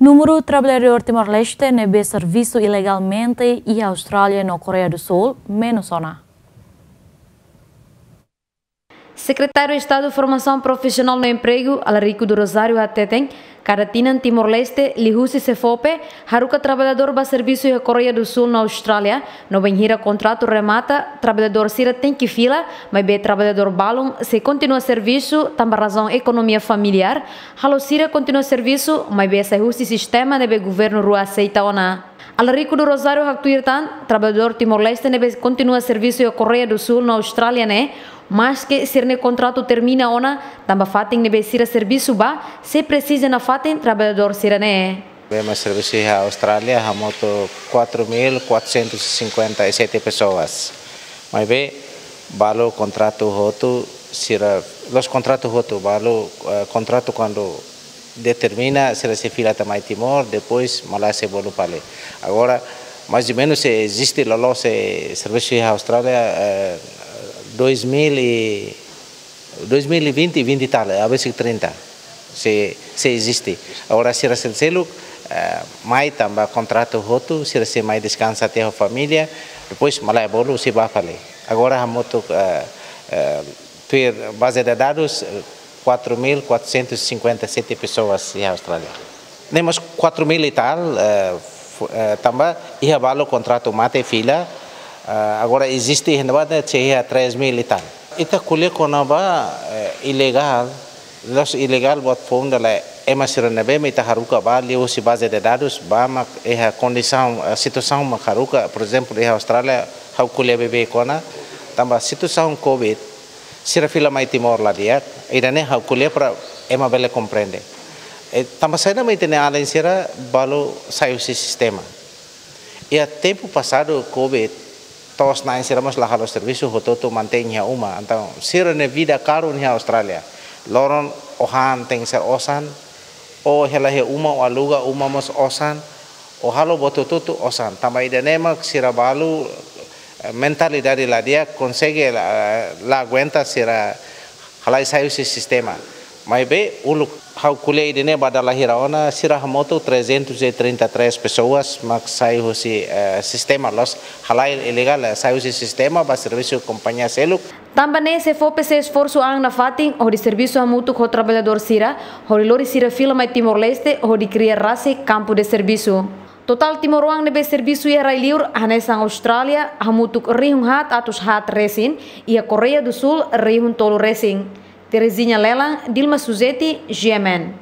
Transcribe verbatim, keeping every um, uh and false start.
Númeru traballadór Timor-Leste ne'ebé servisu ilegalmente iha Austrália no Koreia do Sul menus ona. Sekretáriu Estadu Formasaun Profisionál no Empregu, Alarico do Rosário hateten, kada tinan Timor-Leste, liuhusi SEFOPE, haruka traballadór ba servisu iha Koreia do Sul no Austrália, no bainhira kontratu remata, traballadór sira tenke fila, maibé traballadór balun sei kontinua servisu tanba razaun ekonomia familiár, halo sira kontinua servisu, maibé sai husi sistema ne'ebé governu rua aseita ona. Alarico do Rosário haktuir tan, traballadór Timor-Leste ne'ebé kontinua servisu iha Koreia do Sul no Austrália ne'e, maske sira-nia kontratu termina ona, tanba fatin ne'ebé sira servisu ba, sei presiza nafatin traballadór sira-ne'e. Ema servisu iha Austrália hamutuk quatro mil quatrocentos e cinquenta e sete pessoas. Maibé, balu kontratu hotu, sira, la'ós kontratu hotu, balu, eh, kontratu kuandu determina, sira sei fila tiha mai Timor, depois malae sei bolu fali. Agora, mais ou menus, sei eziste loloos sei servisu iha Austrália, eh, dois mil e, dois mil e vinte, vinte e tal, eh, a veces trinta. Sei, sei eziste. Agora, sira seluk-seluk, eh, mai tanba kontratu hotu, sira sei mai deskansa tiha ho família, depois malae bolu sei bá fali. Agora, hamutuk, eh, eh, tuir baze de dadus, eh, quatro mil quatrocentos e cinquenta e sete pessoas iha Austrália. Ne'e mós quatro mil e tal, eh, fu-, eh, tanba iha balu kontratu mate fila, eh, agora eziste iha ne'ebá ne'e sei iha três mil e tal. Ita ko'alia kona-ba, eh, ilegál, la'ós ilegál buat foun dala ema sira ne'ebé mak ita haruka ba liuhusi baze de dadus ba mak iha kondisaun, eh, situasaun mak haruka, por ezemplu, iha Austrália, ha'u ko'alia beibeik ona, tanba situasaun covid, sira fila mai Timor la di'ak, ida-ne'e ha'u ko'alia para ema bele komprende. Eh, tanba saida mak ita-nia alin sira balu sai husi sistema. Iha tempu pasadu covid, to'os-na'in sira mós la halo servisu, hotu-hotu mantein iha uma. Entaun, sira-nia vida karun iha Austrália. Loron ó han tenke ser osan, ó hela iha uma, ó aluga uma mós osan, ó halo buat hotu-hotu osan. Tanba ida-ne'e mak sira balu, eh, mentalidade la di'ak, konsege la, la aguenta sira halai sai husi sistema. Maibé uluk ha'u ko'alia ida-ne'e ba dala hira ona, sira hamutuk trezentos e trinta e três pessoas mak sai husi, eh, sistema, la'ós halai ilegál, eh, sai husi sistema ba servisu kompañia seluk. Tanba ne'e SEFOPE sei esforsu an nafatin hodi servisu hamutuk ho traballadór sira, hodi lori sira fila mai Timor-Leste, hodi kria rasik kampu de servisu. Totál timoroan ne'ebé servisu iha rai-liur hanesan Austrália hamutuk rihun haat atus haat resin, iha Koreia do Sul rihun tolu resin. Terezinha Lelan, Dilma Suzeti, G M N.